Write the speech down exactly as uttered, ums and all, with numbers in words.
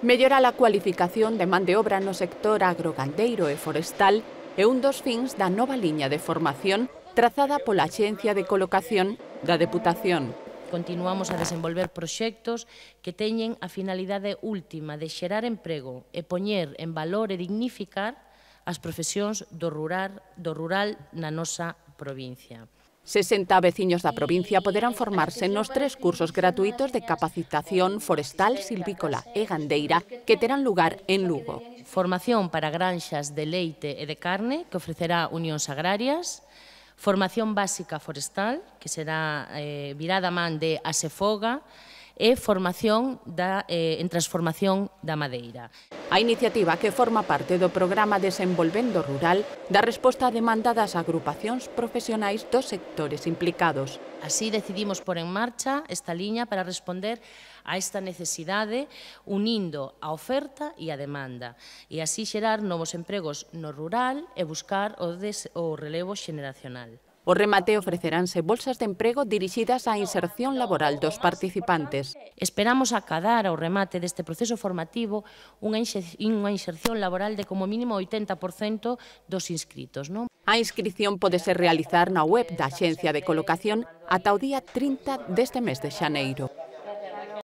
Mellorar a cualificación de man de obra no sector agrogandeiro e forestal é un dos fins da nova liña de formación trazada pola Axencia de Colocación da Deputación. Continuamos a desenvolver proxectos que teñen a finalidade última de xerar emprego e poñer en valor e dignificar as profesións do rural, do rural na nosa provincia. sesenta veciños da provincia poderán formarse nos tres cursos gratuitos de capacitación forestal, silvícola e gandeira que terán lugar en Lugo. Formación para granxas de leite e de carne que ofrecerá Unións Agrarias, formación básica forestal que será eh, virada man de Asefoga e formación da, eh, en transformación da madeira. A iniciativa, que forma parte do programa Desenvolvendo Rural, dá resposta a demanda das agrupacións profesionais dos sectores implicados. Así decidimos pôr en marcha esta liña para responder a esta necesidade unindo a oferta e a demanda e así xerar novos empregos no rural e buscar o, des, o relevo xeneracional. O remate ofreceránse bolsas de emprego dirixidas á inserción laboral dos participantes. Esperamos acadar ao remate deste proceso formativo unha inserción laboral de como mínimo oitenta por cento dos inscritos. Non? A inscrición pode ser realizar na web da Axencia de Colocación ata o día trinta deste mes de xaneiro.